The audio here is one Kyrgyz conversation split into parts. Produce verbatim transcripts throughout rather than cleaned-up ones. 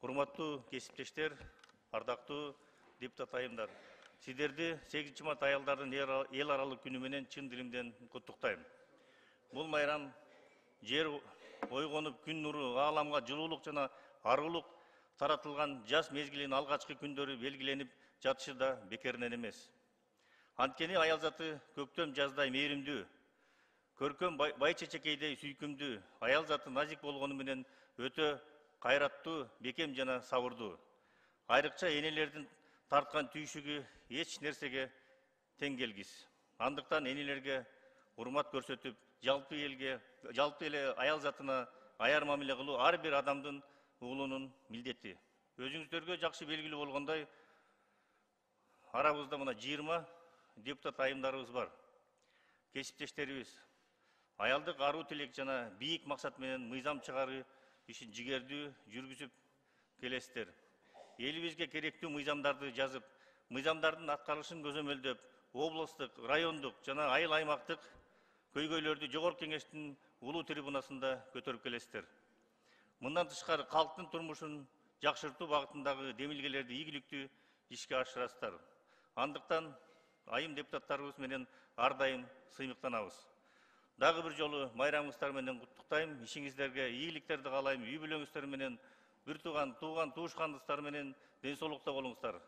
Урматтуу кесиптештер, ардактуу депутат айымдар. Сиздерди сегизинчи март аялдардын эл аралык күнү менен чын дилимден куттуктайм. Бул майрам жер ойгонуп күн нуру ааламга жылуулук жана аргылык таратылган жаз мезгилинин алгачкы күндөрү белгиленип жатышы да бекеринен эмес. Анткени аял заты көктөм жаздай мээримдүү, көркөм бай чечекейдей сүйкүмдүү, аял заты назик болгону менен өтө кайраттуу, бекем жана сабырдуу. Айрыкча энелердин тарткан түйшүгү эч нерсеге тең келгис. Андыктан энелерге урмат көрсөтүп, жалпы элге, жалпы эле аял затына аяр мамиле кылуу ар бир адамдын уулунун милдети. Өзүңүздөргө жакшы белгилүү болгондой, арабызда мына жыйырма депутат айымдарыбыз бар. Кесиптештерибиз аялдык аруу тилек жана бийик максат менен мыйзам чыгаруу ишин жигердүү жүргүзүп келесиздер. Элибизге керектүү мыйзамдарды жазып, мыйзамдардын аткарылышын көзөмөлдөп, облустук, райондук жана айыл аймактык көйгөйлөрдү жогорку кеңештин улуу трибунасында көтөрүп келесиздер. Мындан тышкары калктын турмушун жакшыртуу багытындагы демилгелерди ийгиликтүү ишке ашырасыздар. Андыктан айым депутаттарыбыз менен ар дайым сыймыктанабыз. Дагы бир жолу майрамыңыздар менен куттуктайм. Ишиңиздерге ийгиликтерди каалайм. Үй бүлөңүздөр менен, бир тууган, тууган туушкандыктар менен ден соолукта болуңуздар.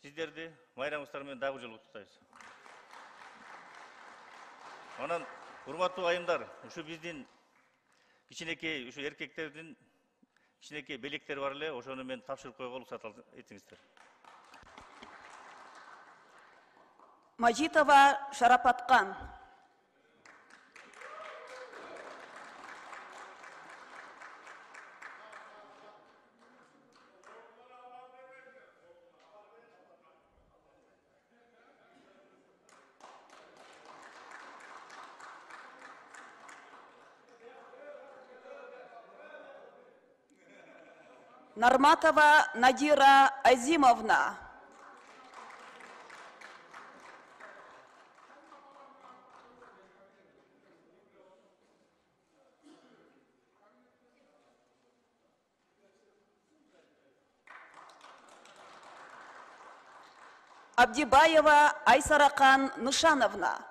Сиздерди майрамыңыздар менен дагы бир жолу куттуктайбыз. Анан, урматтуу айымдар, ушу биздин кичинекей, ушу эркектердин кичинекей белектери бар эле, ошону мен тапшырып койгонго уруксат этиңиздер. Мажитова Шарапаткан. Нарматова Надира Азимовна. Абдибаева Айсаракан Нышановна.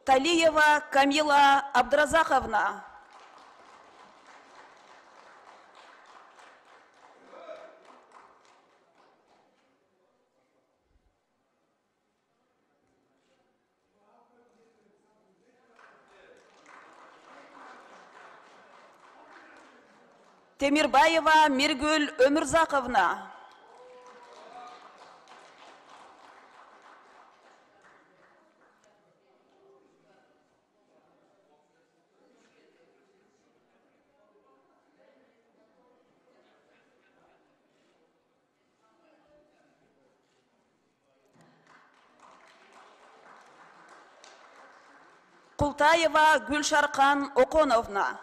Талиева Камила Абдразаховна. Темирбаева Миргүл Өмүрзаковна. Култаева Гүлшаркан Оконовна.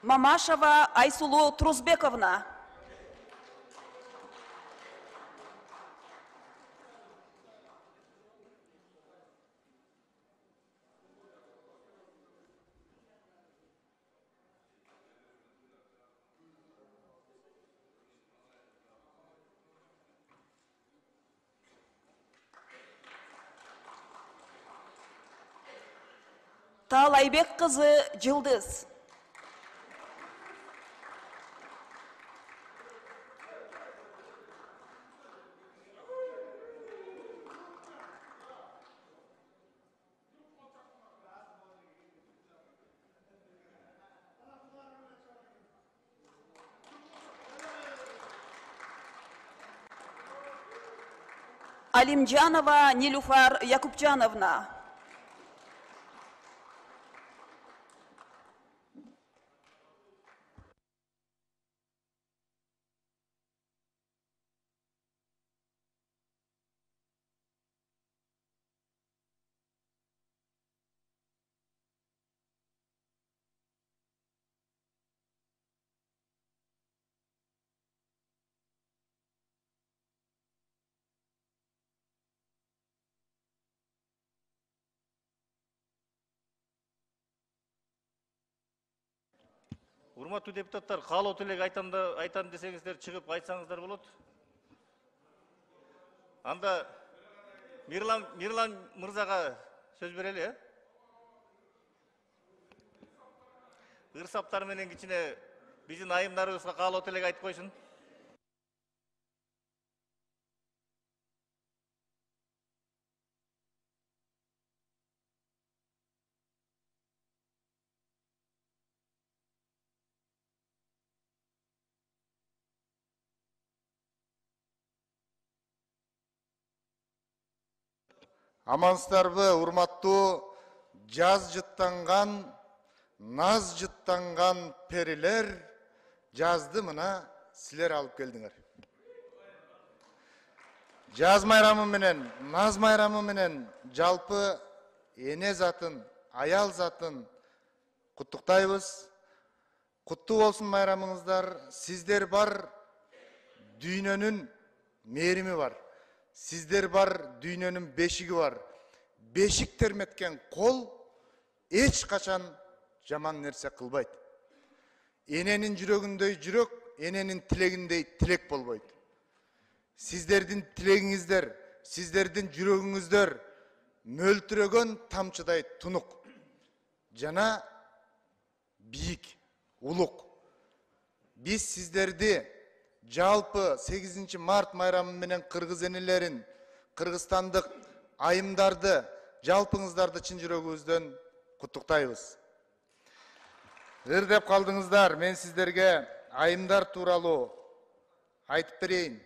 Мамашева Айсулу Трузбековна. Таалайбек кызы Жылдыз. Алимжанова Нилуфар Якупжановна. Урматтуу депутаттар, каалоо тилек айтам да айтам десеңиздер чыгып айтсаңыздар болот. Анда Мирлан Мирлан мырзага сөз берели, э? Ырсаптар менен кичине биздин айымдарыбызга каалоо тилек айтып койсун. Амансыздарбы, урматтуу жаз жыттанган, наз жыттанган перилер, жазды мына силер алып келдиңер. Жаз майрамы менен, наз майрамы менен жалпы эне затын, аял затын куттуктайбыз. Куттуу болсун майрамыңыздар. Сиздер бар, дүйнөнүн мээрими бар. Сиздер бар, дүйнөнүн бешиги бар. Бешик терметкен кол эч качан жаман нерсе кылбайт. Эненин жүрөгүндөй жүрөк, эненин тилегиндей тилек болбойт. Сиздердин тилегиңиздер, сиздердин жүрөгүңүздөр мөлтүрөгөн тамчыдай тунук жана бийик, улук. Биз сиздерди жалпы сегизинчи март майрамы менен кыргыз энелерин, кыргызстандык айымдарды, жалпыңыздарды чын жүрөгүбүздөн куттуктайбыз. Ыр деп калдыңыздар, мен сиздерге айымдар тууралуу айтып берейин.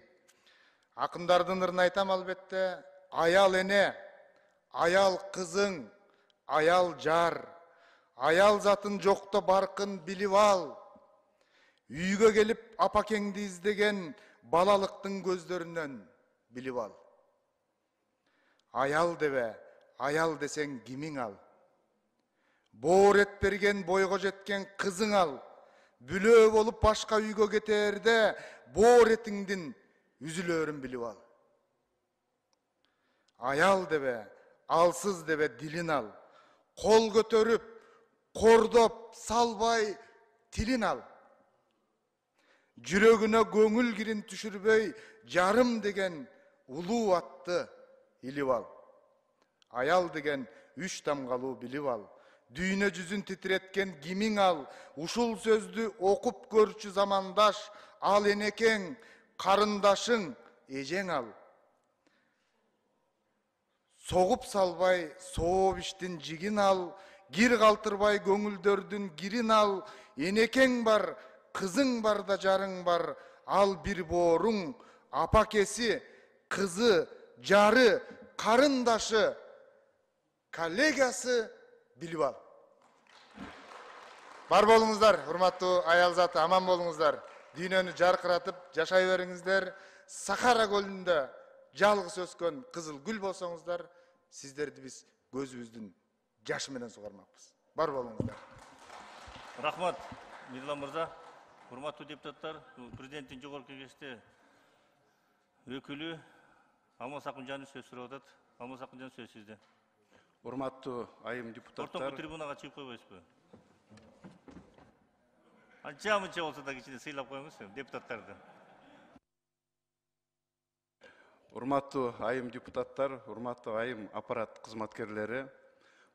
Акындардын ырын айтам албетте. Аял эне, аял кызың, аял жар. Аял затын жокто баркын билип ал. Үйгө келип апакеңди издеген балалыктын көздөрүнөн билип ал. Аял дебе, аял десең кимиң ал? Боор эт берген бойго жеткен кызың ал. Бүлөө болуп башка үйгө кетээрде боор этиңдин үзүлөрүн билип ал. Аял дебе, алсыз дебе дилин ал. Кол көтөрүп, кордоп, салбай тилин ал. Жүрөгүнө көңүл кирин түшүрбөй, жарым деген улуу атты илип ал. Аял деген үч тамгалуу билип ал. Дүйнө жүзүн титиреткен кимиң ал. Ушул сөздү окуп көрчү замандаш, ал энекең, карындашың, эжең ал. Согуп салбай, сооп иштин жигин ал. Кир калтырбай көңүлдөрдүн кирин ал. Энекең бар, кызың бар да жарың бар. Ал бир бооруң, апакеси, кызы, жары, карындашы, коллегасы билип ал. Бар болуңуздар, урматтуу аял заты, аман болуңуздар. Дүйнөнү жаркыратып жашай бериңиздер. Сахара көлүндө жалгыз өскөн кызыл гүл болсоңуздар, сиздерди биз көзүбүздүн жашы менен сугармакпыз. Бар болуңуздар. Рахмат, Мирлан мырза. Урматтуу депутаттар, президенттин жогорку кеңеште өкүлү Алмаз Акынжанов сөз сурап атат. Алмаз Акынжанов сөз сизде. Урматтуу айым депутаттар. Ортоңку трибунага чыгып койбойсузбу? Анча мынча болсо да кичине сыйлап коюңуз депутаттарды. Урматтуу айым депутаттар, урматтуу айым аппарат кызматкерлери,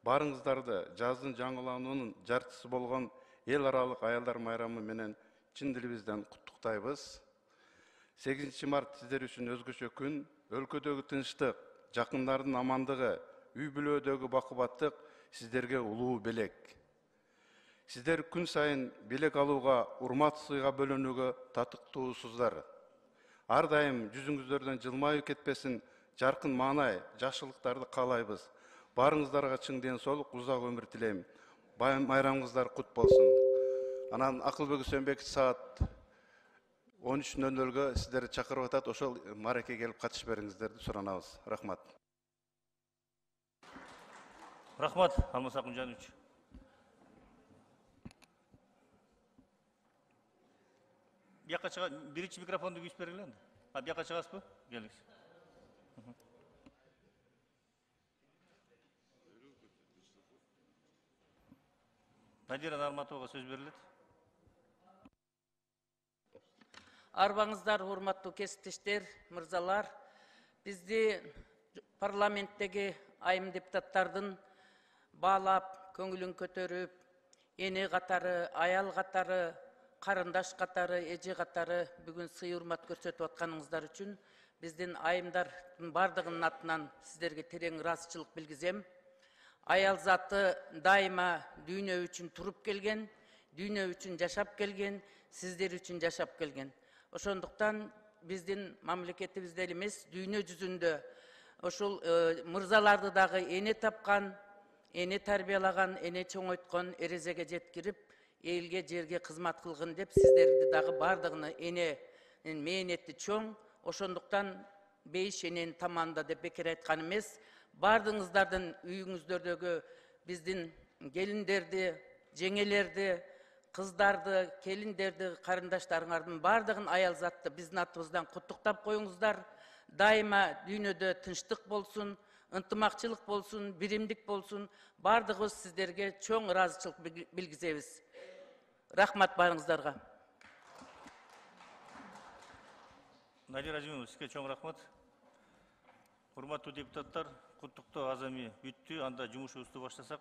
барыңыздарды жаздын жаңылануунун жартысы болгон эл аралык аялдар майрамы менен чын дилибизден куттуктайбыз. сегизинчи март сиздер үчүн өзгөчө күн. Өлкөдөгү тынчтык, жакындардын амандыгы, үй бүлөдөгү бакубаттык сиздерге улуу белек. Сиздер күн сайын белек алууга, урмат сыйга бөлөнүүгө татыктуусуздар. Ар дайым жүзүңүздөрдөн жылмайып кетпесин жаркын маанай, жакшылыктарды каалайбыз. Баарыңыздарга чың ден соолук, узак өмүр тилейм. Майрамыңыздар кут болсун. Анан Акылбек Үсөнбекович саат он үч нөл нөлгө сиздерди чакырып атат. Ошол мааракеге келип катышып бериңиздерди суранабыз. Рахмат. Рахмат, Алмаз Акунжанович. Бияка чыга, биринчи микрофонду күйүп бергиле энди. А бияка чыгасызбы? Келиңиз. Надира Нарматовага сөз берилет. Арбаңыздар, урматтуу кесиптештер, мырзалар. Бизди парламенттеги айым депутаттардын баалап, көңүлүн көтөрүп, эне катары, аял катары, карындаш катары, эже катары бүгүн сый урмат көрсөтүп атканыңыздар үчүн биздин айымдардын бардыгынын атынан сиздерге терең ыраазычылык билгизем. Аял заты дайыма дүйнө үчүн туруп келген, дүйнө үчүн жашап келген, сиздер үчүн жашап келген. Ошондуктан биздин мамлекетибизде эле эмес, дүйнө жүзүндө ошол мырзаларды дагы эне тапкан, эне тарбиялаган, эне чоңойткон, эрезеге жеткирип, элге, жерге кызмат кылгын деп сиздерди дагы бардыгыны эне мээнети чоң. Ошондуктан бейиш эненин таманында деп бекер айткан эмес. Бардыгыңыздардын үйүңүздөрдөгү биздин келиндерди, жеңелерди, кыздарды, келиндерди, карындаштарыңардын бардыгын аял затты биздин атыбыздан куттуктап коюңуздар. Дайыма дүйнөдө тынчтык болсун, ынтымакчылык болсун, биримдик болсун. Бардыгыбыз сиздерге чоң ыраазычылык билгизебиз. Рахмат баарыңыздарга. Надира Ажимова, сизге чоң рахмат. Урматтуу депутаттар, куттуктоо азами бүттү. Анда жумушубузду баштасак.